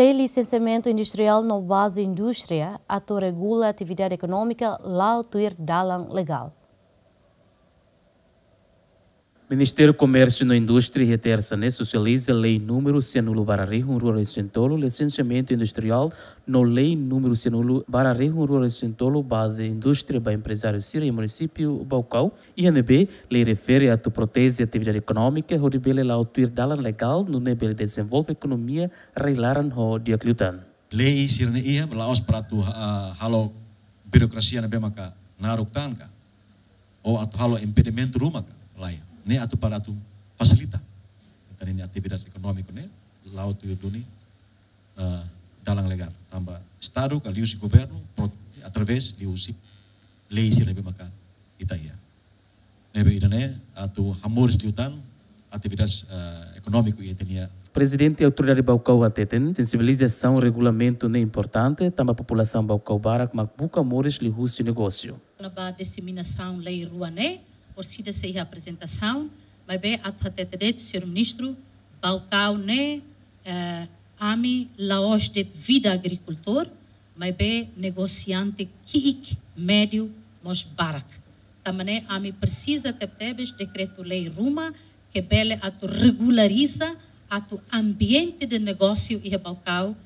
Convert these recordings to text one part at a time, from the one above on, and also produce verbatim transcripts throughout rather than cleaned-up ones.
Lei lisensiamentu industriál no baze indústria atu regula atividade ekonómika la'o tuir dalan legál. Ministériu Komérsiu no Indústria iha tersa ne'e sosializa lei númeru sianulu barra rihun rua resin tolu, lisensiamentu industriál, no lei númeru sianulu barra rihun rua resin tolu, baze indústria ba emprezáriu sira iha munisípiu Baucau. Iha ne'ebé lei refere atu proteje atividade ekonómika hodi bele la'o tuir dalan legál, nune'e bele dezenvolve ekonomia rai-laran ho di'ak liután. Lei sira-ne'e iha la'ós para atu, ah, halo birokrasia ne'ebé maka naruk tan ka, ou atu halo impedimentu ruma ka, lae. Ne'e atu para atu fasilita ita-nia atividade ekonómika ne'e la'o tuir duni, ah, dalan legál. Tanba Estadu ka liuhusi governu, pro-, através liuhusi lei sira ne'ebé maka ita iha. Ne'ebé ida-ne'e atu hamoris liután atividade, eh, ekonómiku iha ita-nia. Prezidente Autoridade Baucau hateten, sensibilizasaun regulamentu ne'e importante, tanba populasaun Baucau barak mak buka moris liuhusi negósiu. Kona-ba diseminasaun lei rua ne'e, orsida sei iha aprezentasaun, maibé atu hatete de'it, señór ministru, Baucau ne'e, eh, ami la'ós de'it vida agrikultór, maibé negosiante ki'ik, médiu, mós barak. Tanba ne'e ami presiza tebetebes dekretu-lei ruma ke bele atu regulariza atu ambiente de negósiu iha Baucau.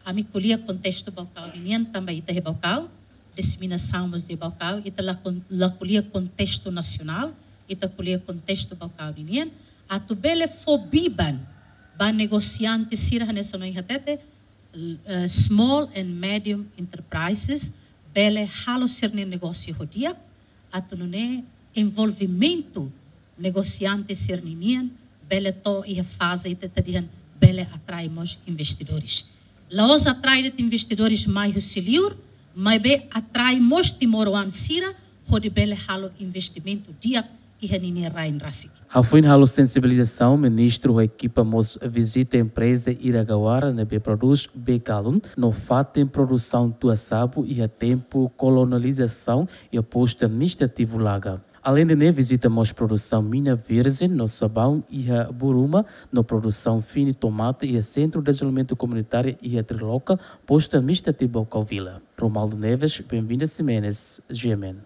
Ami ko'alia kontestu Baucau ninian tanba ita iha Baucau, diseminasaun mós iha Baucau, ita la kon-, la ko'alia kontestu nasionál, ita ko'alia kontestu Baucau ninian, atu bele fó biban ba negosiante sira hanesan ohin hatete, eh, small and medium enterprises, bele halo sira-nia negósiu ho di'ak, atu nune'e envolvimentu negosiante sira-ninian, bele to'o iha faze ita atu dehan bele atrai mós investidores. La'ós atrai de'it investidores mai husi liur, maibé atrai mós timoroan sira, hodi bele halo investimentu di'ak iha ninia rain rasik. Hafoin halo sensibilizasaun, ministru ho ekipa mós vizita empreza Iragawa ne'ebé prodús bee galon no fatin produsaun tua-sabu iha tempu kolonizasaun iha postu administrativu Laga. Aleinde ne'e, vizita mós produsaun mina virjen no sabaun iha Buruma no produsaun fini tomate iha Sentru Dezenvolvimentu Komunitáriu iha Triloka, postu administrativu Baucau Vila. Romaldo Neves, Benvinda Ximenes, G M N.